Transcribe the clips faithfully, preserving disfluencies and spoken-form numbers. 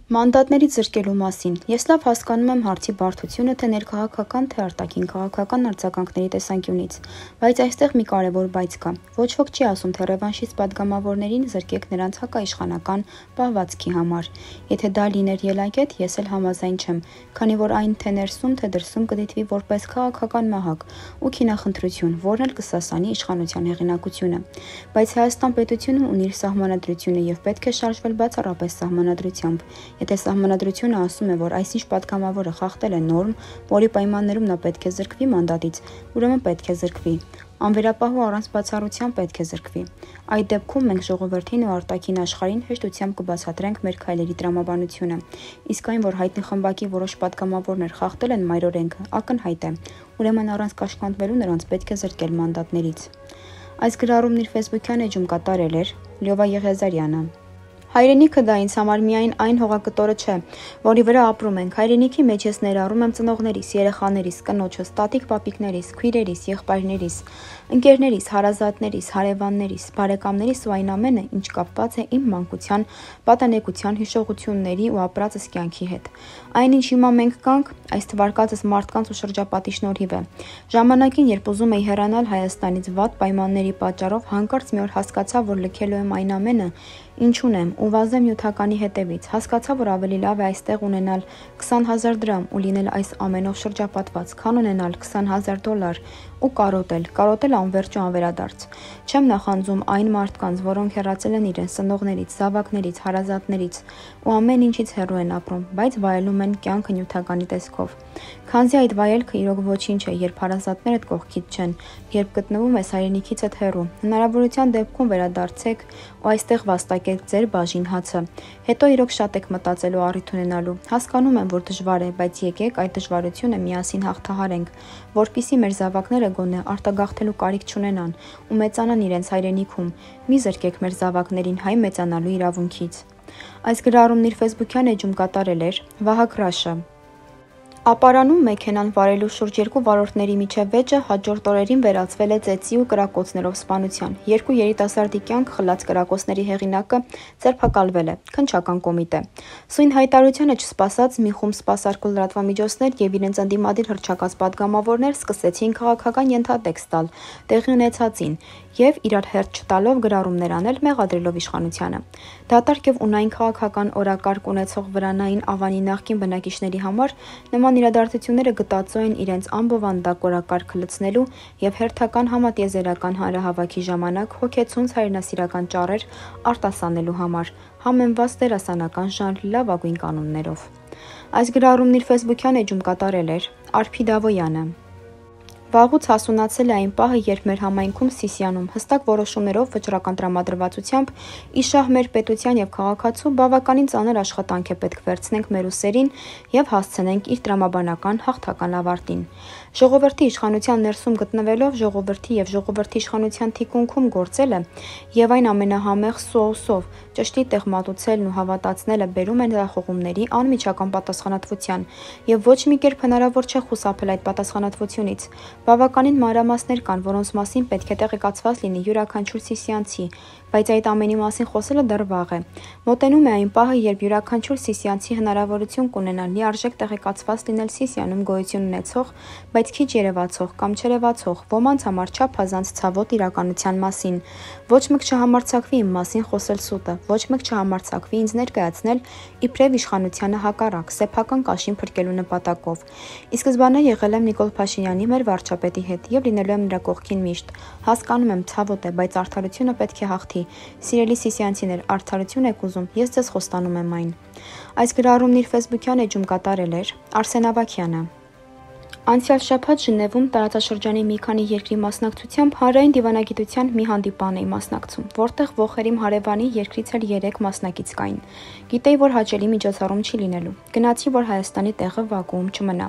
Մանդատներից զրկելու մասին։ Ես լավ հասկանում եմ հարցի բարդությունը թե ներքաղաքական, թե արտաքին քաղաքական արձագանքների տեսանկյունից, բայց այստեղ մի կարևոր բայց կա։ Ոչ ոք չի ասում, թե ռևանշիստ պատգամավորներին զրկեք նրանց հակաիշխանական պահվածքի համար։ Եթե դա լիներ ելակետ, ես էլ համաձայն չեմ, քանի որ այն թե ներսում, թե դրսում կդիտվի որպես քաղաքական մահակ ու քինախնդրություն, որն էլ կսասանի իշխանության հեղինակությունը։ Բայց Հայաստան պետությունն ունի իր սահմանադրությունը եւ պետք է շարժվել բացառապես սահմանադրությամբ։ Եթե սահմանադրությունը ասում է, որ այսինչ պատգամավորը խախտել է նորմ, որի պայմաններում նա պետք է զրկվի մանդատից, ուրեմն պետք է զրկվի։ Անվերապահ ու առանց բացառության պետք է զրկվի։ Այդ դեպքում մենք ժողովրդին ու արտաքին աշխարհին հեշտությամբ կբացատրենք մեր քայլերի տրամաբանությունը։ Իսկ այն, որ հայտնի խմբակի որոշ պատգամավորներ խախտել են մայրօրենքը, ակնհայտ է։ Ուրեմն առանց կաշկանդվելու նրանց պետք է զրկել մանդատներից։ Այս գրառումն իր ֆեյսբուքյան էջում կատարել էր Լյովա Եղիազարյանը։ Հայրենիքը դա ինձ համար միայն այն հողակտորը չէ, որի վրա ապրում ենք։ Հայրենիքի մեջ ես ներառում եմ ծնողներիս, երեխաներիս, կնոջս, տատիկ պապիկներիս, քույրերիս, եղբայրներիս, ընկերներիս, հարազատներիս, հարևաններիս, բարեկամներիս ու այն ամենը, ինչ կապված է իմ մանկության, պատանեկության հիշողությունների ու ապրածս կյանքի հետ։ Այն, ինչ հիմա մենք կանք, այս թվարկածս մարդկանց ու շրջապատի շնորհիվ է։ Ժամանակին, երբ ուզում էի հեռանալ Հայաստանից վատ պայմանների պատճառով, հանկարծ մի օր հասկացա, որ լքելու եմ այն ամենը, ինչ ունեմ, ու վազեմ նյութականի հետևից։ Հասկացա, որ ավելի լավ է այստեղ ունենալ քսան հազար դրամ ու լինել այս ամենով շրջապատված, քան ունենալ քսան հազար դոլար ու կարոտել, կարոտել անվերջ ու անվերադարձ։ Չեմ նախանձում այն մարդկանց, որոնք հեռացել են իրենց ծնողներից, զավակներից, հարազատներից ու ամեն ինչից հեռու են ապրում, բայց վայելում են կյանքը նյութականի տեսքով։ Քանզի այդ վայելքը իրոք ոչինչ է, երբ հարազատներդ կողքիդ չեն, երբ գտնվում ես հայրենիքիցդ հեռու։ Հնարավորության դեպքում վերադարձեք ու այստեղ վաստակեք ձեր բաժին հացը։ Հետո իրոք շատ եք մտածելու առիթ ունենալու։ Հասկանում եմ, որ դժվար է, բայց եկեք այդ դժվարությունը միասին հաղթահարենք, որպեսզի մեր զավակները գոնե արտագաղթելու կարիք չունենան ու մեծանան իրենց հայրենիքում։ Մի զրկեք մեր զավակներին հայ մեծանալու իրավունքից։ Այս գրառումն իր ֆեյսբուքյան էջում կատարել էր Վահագ Ռաշը։ Ապարանում մեքենան վարելու շուրջ երկու վարորդների միջև վեճը հաջորդ օրերին վերածվել է ծեծի ու կրակոցներով սպանության։ Երկու երիտասարդի կյանք խլած կրակոցների հեղինակը ձերբակալվել է, քննչական կոմիտե։ Սույն հայտարարությանը չսպասած մի խումբ սպասարկու լրատվամիջոցներ եւ իրենց ընդդիմադիր հռչակած պատգամավորներ սկսեցին քաղաքական ենթատեքստ տալ տեղի ունեցածին եւ իրար հերթ չտալով գրառումներ անել մեղադրելով իշխանությանը։ Դատարկ եւ ունայն քաղաքական օրակարգ ունեցող վրանային Ավանի նախկին բնակիչների համար նման իրադարձությունները գտածո են իրենց անբովանդակ օրակարգը լցնելու եւ հերթական համատիեզերական հանրահավաքի ժամանակ հոգեցունց հայրենասիրական ճառեր արտասանելու համար, համեմված դերասանական ժանրի լավագույն կանոններով։ Այս գրառումն իր ֆեյսբուքյան էջում կատարել էր Արփի Դավոյանը։ Վաղուց հասունացել է այն պահը, երբ մեր համայնքում Սիսիանում հստակ որոշումներով վճռական տրամադրվածությամբ իշահ մեր պետության եւ քաղաքացու բավականին ծանր աշխատանք է պետք վերցնենք մեր ուսերին եւ հասցնենք իր տրամաբանական հաղթական ավարտին։ Ժողովրդի իշխանության ներսում գտնվելով ժողովրդի եւ ժողովրդի իշխանության թիկունքում գործելը եւ այն ամենահամեղ սոուսով ճշտի տեղ մատուցելն ու հավատացնելը բերում են հրախողումների անմիջական պատասխանատվության եւ ոչ մի կերպ հնարավոր չէ խուսափել այդ պատասխանատվությունից։ Բավականին մանրամասներ կան, որոնց մասին պետք է տեղեկացված լինի յուրաքանչյուր սիսիանցի, բայց այդ ամենի մասին խոսելը դեռ վաղ է։ Մոտենում է այն պահը, երբ յուրաքանչյուր սիսիանցի հնարավորություն կունենա լիարժեք տեղեկացված լինել Սիսիանում գոյություն ունեցող, բայց քիչ երևացող կամ չերևացող ոմանց համար չափազանց ցավոտ իրականության մասին։ Ոչ մեկ չհամարձակվի իմ մասին խոսել սուտը, ոչ մեկ չհամարձակվի ինձ ներկայացնել իբրև իշխանությանը հակառակ, սեփական կաշին փրկելու նպատակով։ Ի սկզբանե եղել եմ Նիկոլ Փաշինյանի մեր վարչապետի հետ եւ լինելու եմ նրա կողքին միշտ։ Հասկանում եմ, ցավոտ է, բայց արդարությունը պետք է հաղթի։ Սիրելի սիսիանցիներ, արդարություն եք ուզում, ես ձեզ խոստանում եմ այն։ Այս գրառումն իր ֆեյսբուքյան էջում կատարել էր Արսեն Ավագյանը։ Անցյալ շաբաթ Ժնևում տարածաշրջանի մի քանի երկրի մասնակցությամբ հանրային դիվանագիտության մի հանդիպան էի մասնակցում, որտեղ ոխերիմ հարևանի երկրից էլ երեք մասնակից կային։ Գիտեի, որ հաճելի միջոցառում չի լինելու։ Գնացի, որ Հայաստանի տեղը վակուում չմնա։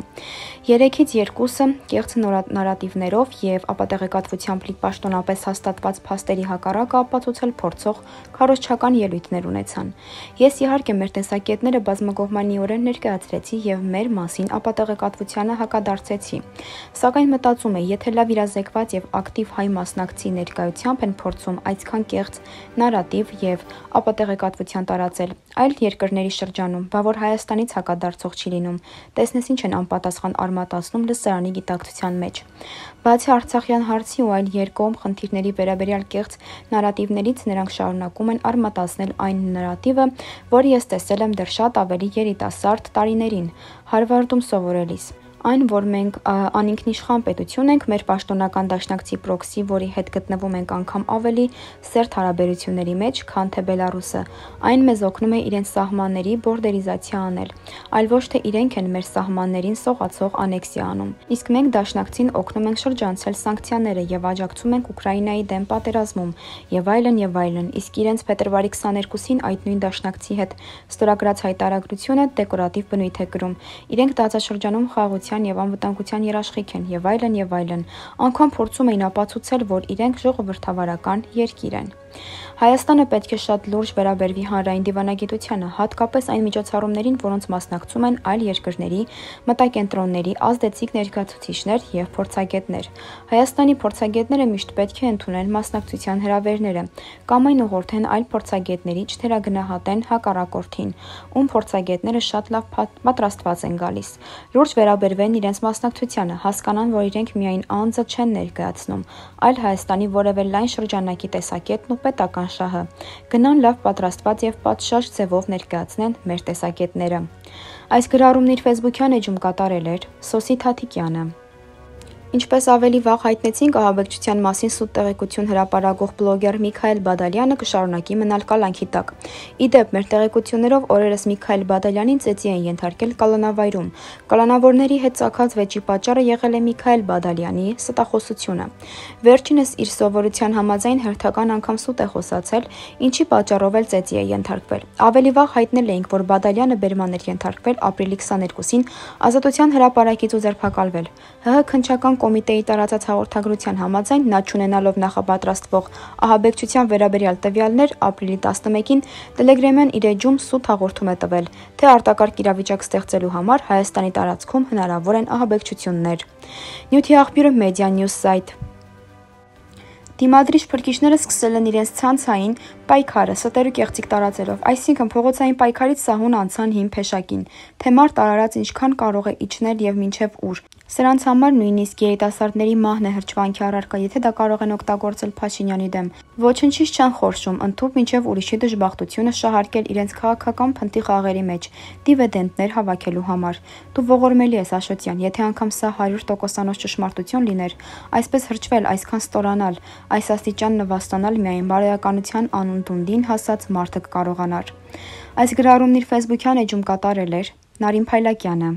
Երեքից երկուսը կեղծ նարատիվներով եւ ապատեղեկատվությամբ լի պաշտոնապես հաստատված փաստերի հակառակը ապացուցել փորձող քարոզչական ելույթներ ունեցան։ Ես իհարկե մեր տեսակետները բազմակողմանիորեն ներկայացրեցի եւ մեր մասին ապատեղեկատվությանը հակադարձ փորձեցի։ Սակայն մտածում էի, եթե լավ իրազեկված եւ ակտիվ հայ մասնակցի ներկայությամբ են փորձում այսքան կեղծ նարատիվ եւ ապատեղեկատվության տարածել այլ երկրների շրջանում, բա որ Հայաստանից հակադարձող չի լինում, տեսնես ինչ են անպատասխան արմատացնում լսարանի գիտակցության մեջ։ Բացի Արցախյան հարցի ու այլ երկկողմ խնդիրների վերաբերյալ կեղծ նարատիվներից նրանք շարունակում են արմատացնել այն նարատիվը, որը ես տեսել եմ դեռ շատ ավելի երիտասարդ տարիներին, Հարվարդում սովորելիս։ Այն, որ մենք անինքնիշխան պետություն ենք, մեր պաշտոնական դաշնակցի պրոքսի, որի հետ գտնվում ենք անգամ ավելի սերտ հարաբերությունների մեջ, քան թե Բելարուսը, այն մեզ օգնում է իրենց սահմանների բորդերիզացիա անել, այլ ոչ թե իրենք են մեր սահմաններին սողացող անեքսիա անում։ Իսկ մենք դաշնակցին օգնում ենք շրջանցել սանկցիաները եւ աջակցում ենք Ուկրաինայի դեմ պատերազմում եւ այլն եւ այլն, իսկ իրենց փետրվարի քսաներկուսին այդ նույն դաշնակցի հետ ստորագրած հայտարարությունը դեկորատիվ բնույթ է կրում։ Իրենք տարածաշրջանում խաղաղության եւ անվտանգության երաշխիք են եւ այլն եւ այլն, անգամ փորձում էին ապացուցել, որ իրենք ժողովրդավարական երկիր են։ Հայաստանը պետք է շատ լուրջ վերաբերվի հանրային դիվանագիտությանը, հատկապես այն միջոցառումներին, որոնց մասնակցում են այլ երկրների մտակենտրոնների ազդեցիկ ներկայացուցիչներ եւ փորձագետներ։ Հայաստանի փորձագետները միշտ պետք է ընդունեն մասնակցության հրավերները կամ այն ուղղորդեն այլ փորձագետների, չթերագնահատեն հակառակորդին, ում փորձագետները շատ լավ պատրաստված են գալիս։ Լուրջ վերաբերվեն իրենց մասնակցությանը, հասկանան, որ իրենք միայն անձը չեն ներկայացնում, այլ Հայաստանի որևէ լայն շրջանակի տեսակետն ու պետական շահը, գնան լավ պատրաստված եւ պատշաճ ձևով ներկայացնեն մեր տեսակետները։ Այս գրառումն իր ֆեյսբուքյան էջում կատարել էր Սոսի Թաթիկյանը։ Ինչպես ավելի վաղ հայտնեցինք, ահաբեկչության մասին սուտ տեղեկություն հրապարակող բլոգեր Միքայել Բադալյանը կշարունակի մնալ կալանքի տակ։ Ի դեպ, մեր տեղեկություններով օրերս Միքայել Բադալյանին ծեծի են ենթարկել կալանավայրում։ Կալանավորների հետ ծագած վեճի պատճառը եղել է Միքայել Բադալյանի ստախոսությունը։ Վերջինս իր սովորության համաձայն հերթական անգամ սուտ է խոսացել, ինչի պատճառով էլ ծեծի է ենթարկվել։ Ավելի վաղ հայտնել էինք, որ Բադալյանը բերման էր ենթարկվել ապրիլի քսաներկուսին Ազատության հրապարակից ու ձերբակալվել։ ՀՀ քննչական կոմիտեի տարածած հաղորդագրության համաձայն նա չունենալով նախապատրաստվող ահաբեկչության վերաբերյալ տվյալներ ապրիլի տասնմեկին Telegram-յան իր էջում սուտ հաղորդում է տվել, թե արտակարգ իրավիճակ ստեղծելու համար Հայաստանի տարածքում հնարավոր են ահաբեկչություններ։ Նյութի աղբյուրը Media News Site։ Դիմադրիչ փրկիչները սկսել են իրենց ցանցային պայքարը ստեր ու կեղծիք տարածելով, այսինքն փողոցային պայքարից սահուն անցան հին փեշակին, թե մարդ արարած ինչքան կարող է իջնել եւ մինչեւ ուր։ Սրանց համար նույնիսկ երիտասարդների մահն է հրճվանքի առարկա, եթե դա կարող են օգտագործել Փաշինյանի դեմ։ Ոչնչից չեն խորշում, ընդཐུպ մինչև ուրիշի դժբախտությունը շահարկել իրենց քաղաքական փնտի խաղերի մեջ, դիվիդենտներ հավաքելու համար։ Դու ողորմելի ես, Աշոտյան, եթե անգամ սա հարյուր տոկոսանոց ճշմարտություն լիներ, այսպես հրճվել, այսքան ստորանալ, այս աստիճան նվաստանալ միայն բարոյականության անունդունդին հասած մարդը կկարողանար։ Այս գրառումն իր ֆեյսբուքյան էջում կատարել էր Նարին Փայլակյանը։